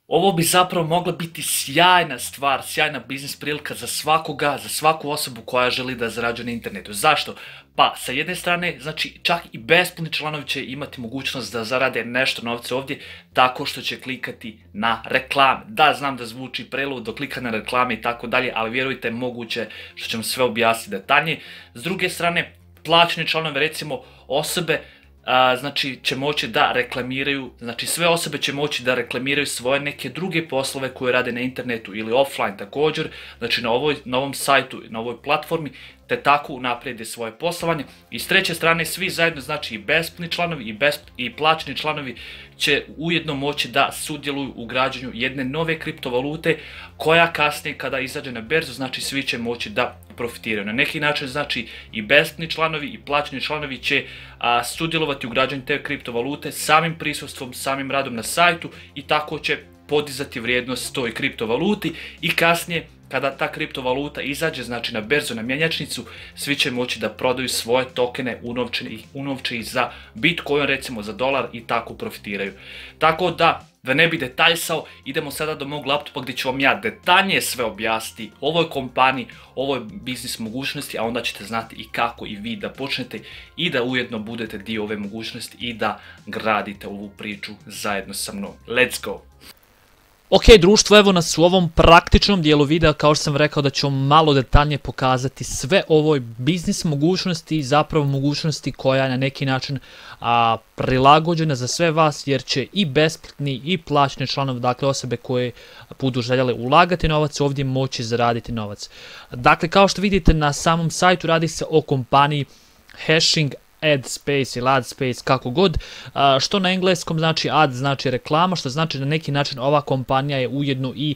Ovo bi zapravo mogla biti sjajna stvar, sjajna biznis prilika za svakoga, za svaku osobu koja želi da zarađuje na internetu. Zašto? Pa, sa jedne strane, znači čak i besplatni članovi će imati mogućnost da zarade nešto novca ovdje tako što će klikati na reklame. Da, znam da zvuči preludo, klika na reklame i tako dalje, ali vjerujte, moguće što ćemo sve objasniti detaljnije. S druge strane, plaćeni članovi, recimo osobe, znači će moći da reklamiraju, znači sve osobe će moći da reklamiraju svoje neke druge poslove koje rade na internetu ili offline također, znači na ovom sajtu, na ovoj platformi, te tako unaprijede svoje poslovanje. I s treće strane svi zajedno, znači i besplatni članovi i plaćeni članovi će ujedno moći da sudjeluju u građenju jedne nove kriptovalute koja kasnije kada izađe na berzu, znači svi će moći da profitiraju. Na neki način znači i besplatni članovi i plaćeni članovi će sudjelovati u građenju te kriptovalute samim prisustvom, samim radom na sajtu i tako će podizati vrijednost toj kriptovaluti i kasnije kada ta kriptovaluta izađe, znači na berzu, na mjenjačnicu, svi će moći da prodaju svoje tokene unovče za Bitcoin, recimo za dolar i tako profitiraju. Tako da ne bi detaljsao, idemo sada do mog laptopa gdje ću vam ja detaljnije sve objasniti o ovoj kompaniji, ovoj biznis mogućnosti, a onda ćete znati i kako i vi da počnete i da ujedno budete dio ove mogućnosti i da gradite ovu priču zajedno sa mnom. Let's go! Ok, društvo, evo nas u ovom praktičnom dijelu videa, kao što sam rekao da ću malo detaljnije pokazati sve ovoj biznis mogućnosti i zapravo mogućnosti koja je na neki način prilagođena za sve vas, jer će i besplatni i plaćeni članovi, dakle osobe koje budu željele ulagati novac, ovdje moći zaraditi novac. Dakle, kao što vidite na samom sajtu radi se o kompaniji Hashing Ad Space ili Ad Space, kako god, što na engleskom znači ad znači reklama, što znači na neki način ova kompanija je ujedno i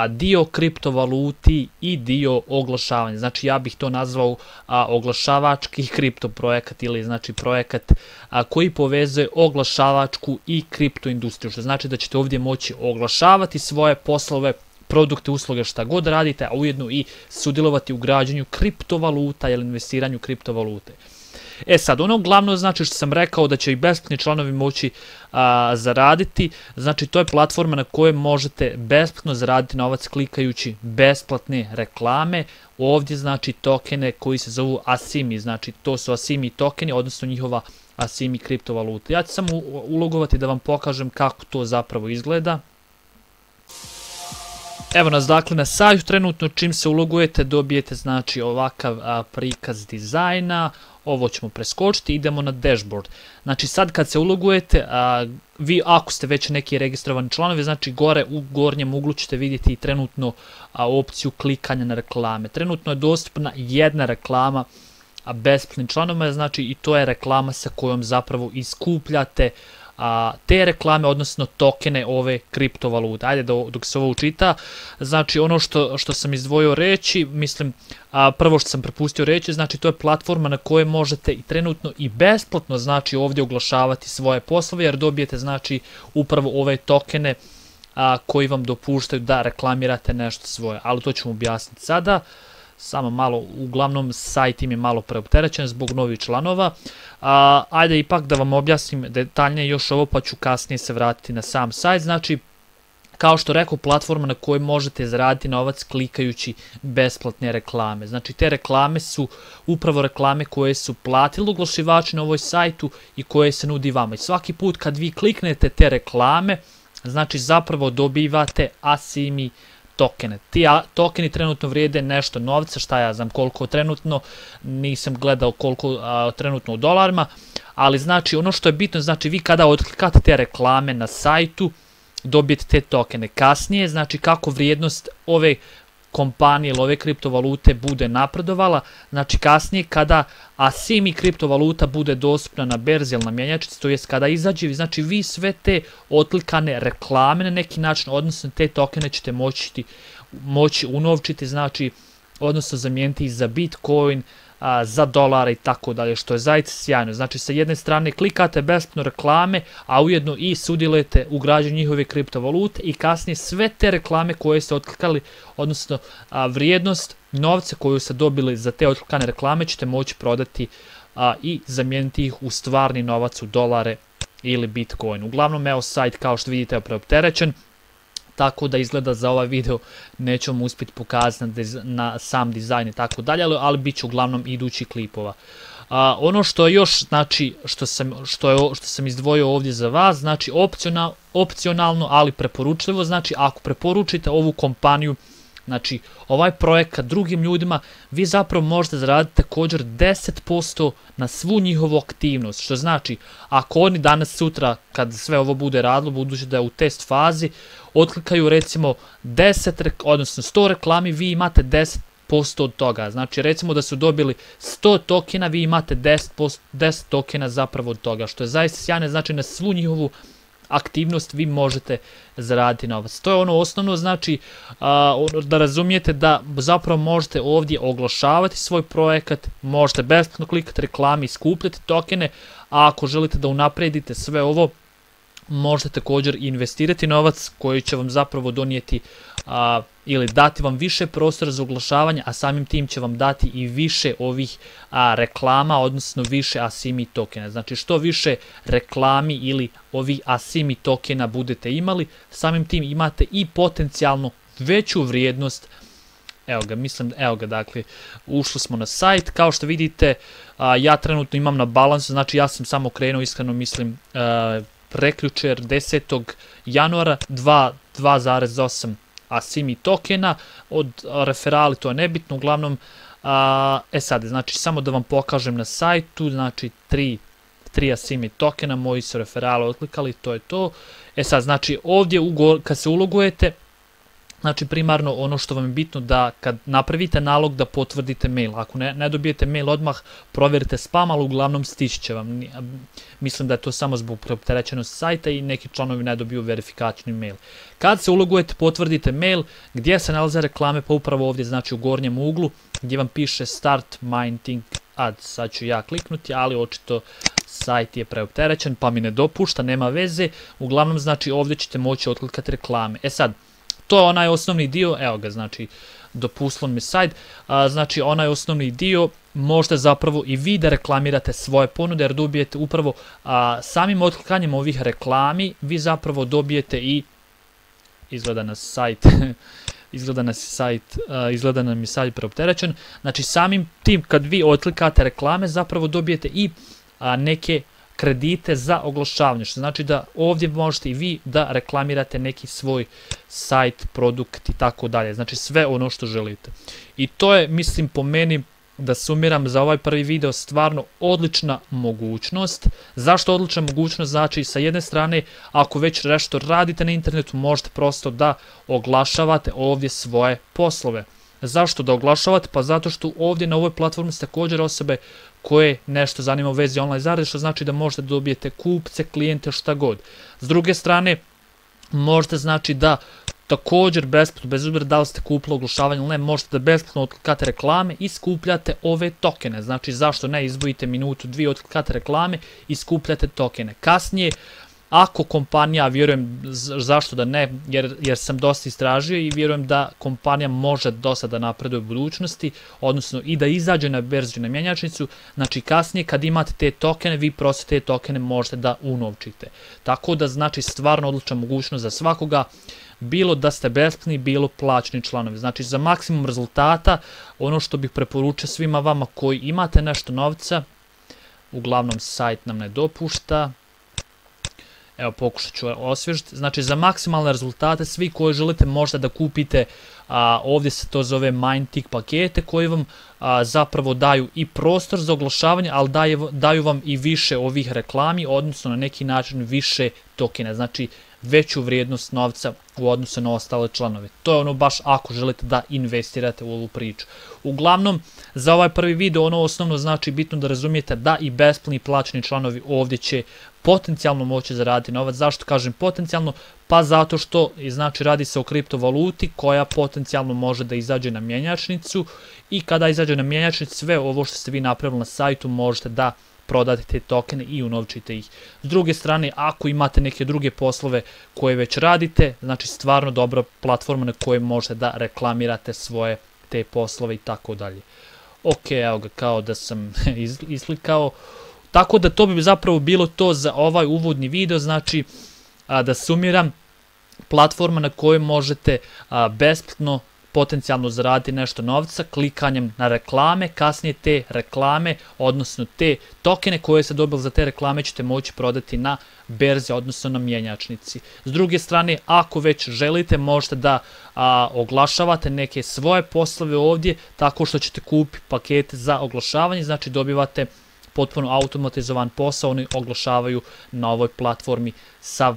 dio kriptovaluti i dio oglašavanja. Znači ja bih to nazvao oglašavački kripto projekat ili znači projekat koji povezuje oglašavačku i kripto industriju, što znači da ćete ovdje moći oglašavati svoje poslove, produkte, usluge, šta god radite, a ujedno i sudjelovati u građenju kriptovaluta ili investiranju kriptovalute. E sad, ono glavno znači što sam rekao da će i besplatni članovi moći zaraditi, znači to je platforma na kojoj možete besplatno zaraditi novac klikajući besplatne reklame. Ovdje znači tokene koji se zovu ASIMI, znači to su ASIMI tokeni, odnosno njihova ASIMI kriptovaluta. Ja ću samo ulogovati da vam pokažem kako to zapravo izgleda. Evo nas dakle na sajtu, trenutno čim se ulogujete dobijete znači ovakav prikaz dizajna, ovo ćemo preskočiti, idemo na dashboard. Znači sad kad se ulogujete, vi ako ste već neki registrovani članovi, znači gore u gornjem uglu ćete vidjeti i trenutno opciju klikanja na reklame. Trenutno je dostupna jedna reklama besplatnim članovima, znači i to je reklama sa kojom zapravo iskupljate te reklame, odnosno tokene ove kriptovalute. Ajde dok se ovo učita, znači ono što sam izdvojio reći, mislim, prvo što sam propustio reći, znači to je platforma na kojoj možete i trenutno i besplatno znači ovdje oglašavati svoje poslove, jer dobijete znači upravo ove tokene koji vam dopuštaju da reklamirate nešto svoje, ali to ćemo objasniti sada. Samo malo, uglavnom sajt im je malo preopterećen zbog novih članova. Ajde ipak da vam objasnim detaljnije još ovo, pa ću kasnije se vratiti na sam sajt. Znači, kao što rekao, platforma na kojoj možete zaraditi novac klikajući besplatne reklame. Znači, te reklame su upravo reklame koje su platili oglašivači na ovoj sajtu i koje se nudi vama. I svaki put kad vi kliknete te reklame, znači zapravo dobivate ASIMI tokene. Ti tokeni trenutno vrijede nešto novca, šta ja znam koliko trenutno, nisam gledao koliko trenutno u dolarima, ali znači ono što je bitno, znači vi kada otklikate te reklame na sajtu, dobijete te tokene. Kasnije, znači kako vrijednost ove kompanije ili ove kriptovalute bude napredovala, znači kasnije kada ASIMI kriptovaluta bude dostupna na berzi ili na mjenjačnici, to jest kada izađe, znači vi sve te otklikane reklame na neki način, odnosno te tokene ćete moći unovčiti, znači odnosno zamijeniti za Bitcoin, za dolare i tako dalje, što je zaista sjajno. Znači sa jedne strane klikate besplatno reklame, a ujedno i sudjelujete u građenju njihove kriptovalute i kasnije sve te reklame koje ste otklikali, odnosno vrijednost novca koju ste dobili za te otklikane reklame ćete moći prodati i zamijeniti ih u stvarni novac, u dolare ili Bitcoin. Uglavnom, evo sajt kao što vidite je preopterećen. tako da izgleda za ovaj video nećemo uspjeti pokazati na sam dizajn i tako dalje, ali bit će uglavnom idućih klipova. Ono što je još, znači, što sam izdvojio ovdje za vas, znači opcionalno, ali preporučljivo, znači ako preporučite ovu kompaniju, znači ovaj projekat drugim ljudima, vi zapravo možete zaraditi također 10% na svu njihovu aktivnost, što znači ako oni danas sutra kad sve ovo bude radilo, budući da je u test fazi, otklikaju recimo 100 reklami, vi imate 10% od toga. Znači recimo da su dobili 100 tokena, vi imate 10 tokena zapravo od toga, što je zaista sjajno, znači na svu njihovu aktivnost vi možete zaraditi novac. To je ono osnovno, znači da razumijete da zapravo možete ovdje oglašavati svoj projekat, možete besplatno klikati reklami i skupljati tokene, a ako želite da unaprijedite sve ovo, možete također investirati novac koji će vam zapravo donijeti ili dati vam više prostora za oglašavanje, a samim tim će vam dati i više ovih reklama, odnosno više ASIMI tokena. Znači što više reklami ili ovih ASIMI tokena budete imali, samim tim imate i potencijalno veću vrijednost. Evo ga, dakle, ušli smo na sajt, kao što vidite, ja trenutno imam na balansu, znači ja sam samo krenuo, iskreno mislim, prekjučer 10. januara 2,8 ASIMI tokena, od referali to je nebitno, uglavnom, sad, znači samo da vam pokažem na sajtu, znači 3 ASIMI tokena, moji su referali otklikali, to je to. Sad, znači ovdje kad se ulogujete, znači primarno ono što vam je bitno da kad napravite nalog da potvrdite mail, ako ne dobijete mail odmah, provjerite spam, ali uglavnom stići će vam. Mislim da je to samo zbog preopterećenosti sajta i neki članovi ne dobiju verifikačni mail. Kad se ulogujete, potvrdite mail, gdje se nalaze reklame, pa upravo ovdje, znači u gornjem uglu, gdje vam piše Start Minting Ads. Sad ću ja kliknuti, ali očito sajt je preopterećen, pa mi ne dopušta, nema veze. Uglavnom, znači ovdje ćete moći otklikati reklame. Sad, to je onaj osnovni dio, evo ga, znači dopustilo mi sajt, znači onaj osnovni dio možete zapravo i vi da reklamirate svoje ponude, jer dobijete upravo samim otklikanjem ovih reklami, vi zapravo dobijete i, izgleda nam je sajt preopterećen, znači samim tim kad vi otklikate reklame zapravo dobijete i neke kredite za oglašavanje, što znači da ovdje možete i vi da reklamirate neki svoj sajt, produkt i tako dalje, znači sve ono što želite. I to je, mislim, po meni, da sumiram za ovaj prvi video, stvarno odlična mogućnost. Zašto odlična mogućnost? Znači, sa jedne strane, ako već nešto radite na internetu, možete prosto da oglašavate ovdje svoje poslove. Zašto da oglašavate? Pa zato što ovdje na ovoj platformi su također osobe koje nešto zanima u vezi online zarade, što znači da možete dobijete kupce, klijente, šta god. S druge strane, možete, znači, da također besplatno, bez obzira da li ste kupili oglašavanje ili ne, možete da besplatno otklikate reklame i skupljate ove tokene. Znači, zašto ne, izdvojite minutu, dvije, otklikate reklame i skupljate tokene. Kasnije, ako kompanija, vjerujem, zašto da ne, jer sam dosta istražio i vjerujem da kompanija može dosta da napreduje u budućnosti, odnosno i da izađe na berzu, na mjenjačnicu, znači kasnije kad imate te tokene, vi prosto te tokene možete da unovčite. Tako da, znači, stvarno odlična mogućnost za svakoga, bilo da ste besplatni, bilo plaćeni članovi. Znači, za maksimum rezultata, ono što bih preporučio svima vama koji imate nešto novca, uglavnom sajt nam ne dopušta, evo pokušat ću osvježiti, znači za maksimalne rezultate svi koji želite možete da kupite, ovdje se to zove MindTick pakete koji vam zapravo daju i prostor za oglašavanje, ali daju vam i više ovih reklami, odnosno na neki način više tokena, znači veću vrijednost novca u odnosu na ostale članove. To je ono baš ako želite da investirate u ovu priču. Uglavnom, za ovaj prvi video ono osnovno znači bitno da razumijete da i besplatni i plaćeni članovi ovdje će potencijalno moći zaraditi novac. Zašto kažem potencijalno? Pa zato što, znači, radi se o kriptovaluti koja potencijalno može da izađe na mjenjačnicu i kada izađe na mjenjačnicu sve ovo što ste vi napravili na sajtu možete da prodate te tokene i unovčite ih. S druge strane, ako imate neke druge poslove koje već radite, znači stvarno dobra platforma na kojoj možete da reklamirate svoje te poslove i tako dalje. Ok, evo ga, kao da sam islikao. Tako da to bi zapravo bilo to za ovaj uvodni video, znači da sumiram. platforma na kojoj možete besplatno potencijalno zaraditi nešto novca klikanjem na reklame, kasnije te reklame, odnosno te tokene koje ste dobili za te reklame ćete moći prodati na berzi, odnosno na mjenjačnici. S druge strane, ako već želite, možete da oglašavate neke svoje poslove ovdje tako što ćete kupiti pakete za oglašavanje, znači dobivate potpuno automatizovan posao, oni oglašavaju na ovoj platformi sav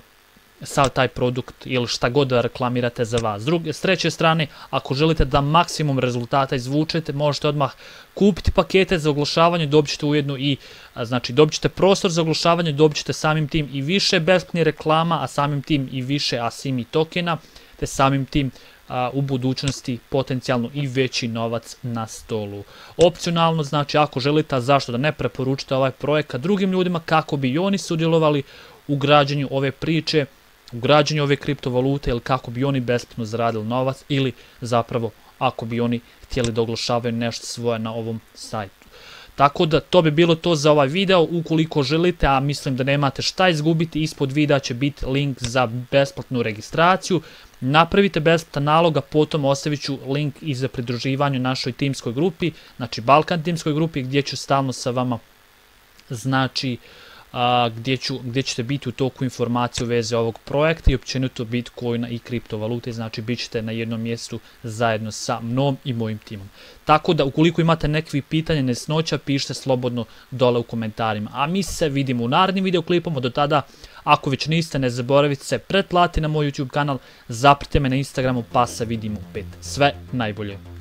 taj produkt ili šta god da reklamirate za vas. S treće strane, ako želite da maksimum rezultata izvučete, možete odmah kupiti pakete za oglašavanje, dobit ćete ujedno i, znači dobit ćete prostor za oglašavanje, dobit ćete samim tim i više besplatnih reklama, a samim tim i više ASIMI tokena, te samim tim u budućnosti potencijalno i veći novac na stolu. Opcionalno, znači ako želite, a zašto da ne, preporučite ovaj projekat drugim ljudima kako bi i oni sudjelovali u građenju ove priče, u građenju ove kriptovalute ili kako bi oni besplatno zaradili novac ili zapravo ako bi oni htjeli da oglašavaju nešto svoje na ovom sajtu. Tako da to bi bilo to za ovaj video. Ukoliko želite, a mislim da nemate šta izgubiti, ispod videa će biti link za besplatnu registraciju. Napravite besplatan nalog, a potom ostavit ću link i za pridruživanje našoj timskoj grupi, znači Balkan timskoj grupi, gdje ću stalno sa vama, znači gdje ćete biti u toku informacije u vezi ovog projekta i općenito Bitcoina i kriptovalute, znači bit ćete na jednom mjestu zajedno sa mnom i mojim timom. Tako da ukoliko imate nekakvih pitanja, nesnoća, pišite slobodno dole u komentarima. A mi se vidimo u narednim videoklipama, do tada ako već niste, ne zaboravite se pretplati na moj YouTube kanal, zapratite me na Instagramu, pa se vidimo opet. Sve najbolje.